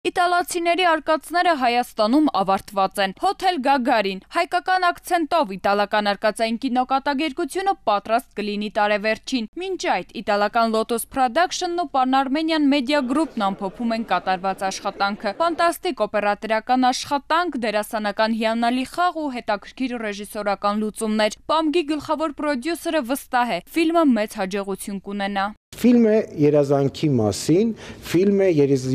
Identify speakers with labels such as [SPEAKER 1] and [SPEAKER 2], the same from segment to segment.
[SPEAKER 1] Իտալացիների արկածները Հայաստանում ավարտված են։ Հոթել Գագարին հայկական ակցենտով իտալական արկածային կինոկատակերգությունը պատրաստ կլինի տարեվերջին։ Մինչ այդ իտալական Lotus Production-ն ու Pan-Armenian Media Group-ն ամփոփում են կատարված աշխատանքը։ Ֆանտաստիկ օպերատորական աշխատանք, դերասանական հիանալի խաղ ու հետաքրքիր ռեժիսորական լուծումներ։ Պամգի գլխավոր պրոդյուսերը վստահ է, ֆիլմը մեծ հաջողություն կունենա։
[SPEAKER 2] Ֆիլմը երազանքի մասին, ֆիլմը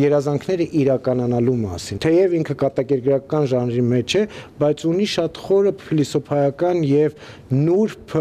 [SPEAKER 2] երազանքները իրականանալու մասին։ Թեև ինքը կատակերգրական ժանրի մեջ է, բայց ունի շատ խորը փիլիսոփայական եւ նուրբ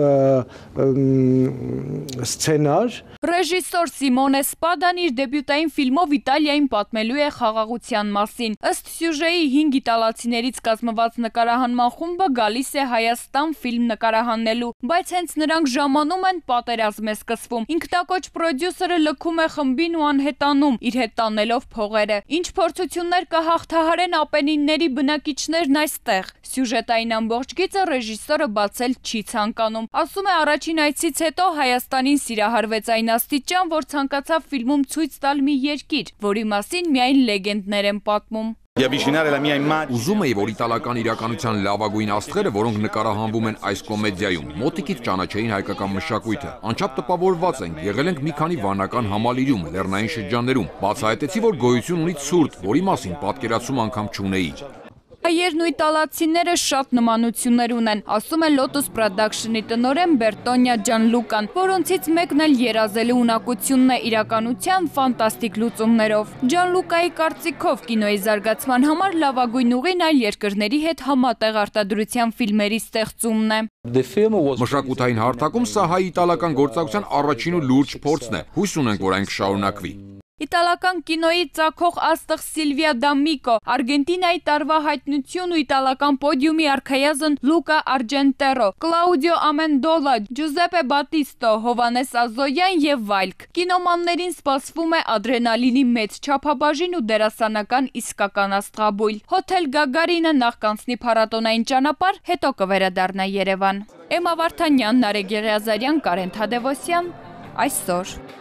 [SPEAKER 2] սցենար։
[SPEAKER 1] Ռեժիսոր Սիմոնե Սպադան իր դեբյուտային ֆիլմով Իտալիային պատմելու է խաղաղության մասին։ Ըստ սյուժեի 5 իտալացիներից կազմված նկարահանման խումբը գալիս է Հայաստան ֆիլմ նկարահանելու, բայց հենց նրանք ժամանում են, պատերազմ է սկսվում։ Ինքնակոչ պրոդյուսերը լքում է խմբին ու անհետանում, իր հետ տանելով փողերը։ Ինչ փորձություններ կհաղթահարեն Ապենինների բնակիչներն այստեղ։ Սյուժետային ամբողջ գիծը ռեժիսորը բացել չի ցանկանում։ Ասում է, առաջին այցից հետո Հայաստանին սիրահարվեց այն աստիճան, որ ցանկացավ ֆիլմում ցույց տալ մի երկիր, որի մասին միայն լեգենդներ են պատմում։
[SPEAKER 3] Ուզում էի, որ իտալական իրականության լավագույն աստղերը, որոնք նկարահանվում են այս կոմեդիայում, մոտիկից ճանաչեին հայկական մշակույթը։ Անչափ տպավորված ենք, եղել ենք մի քանի վանական համալիրում, լեռնային շրջաններում։ Բացահայտեցի, որ գոյություն ունի ցուրտ, որի մասին պատկերացում անգամ չունեի։
[SPEAKER 1] Հայերն ու իտալացիները շատ նմանություններ ունեն, ասում է Lotus Production-ի տնօրեն Բերտոնյա Ջանլուկան, որոնցից մեկն էլ երազելու ունակությունն է իրականության ֆանտաստիկ լուծումներով։ Ջանլուկայի կարծիքով կինոյի զարգացման համար լավագույն ուղին այլ երկրների հետ համատեղ արտադրության ֆիլմերի ստեղծումն է։
[SPEAKER 3] Մշակութային հարթակում սա հայ-իտալական գործակցության առաջին ու լուրջ փորձն է։ Հույս ունենք, որ այն կշարունակվի։
[SPEAKER 1] Իտալական կինոյի ծագող աստղ Սիլվիա Դամիկո, Արգենտինայի տարվա հայտնություն ու իտալական պոդիումի արքայազն Լուկա Արջենտերո, Կլաուդիո Ամենդոլա, Ջուզեպե Բատիստո, Հովանես Ազոյան եւ այլք։ Կինոմաններին սպասվում է ադրենալինի մեծ չափաբաժին ու դերասանական իսկական աստղաբույլ։ Հոթել Գագարինը նախ կանցնի փառատոնային ճանապարհ, հետո կվերադառնա Երևան։ Էմմա Վարդանյան, Նարեկ Եղիազարյան, Կարեն Թադևոսյան, այսօր։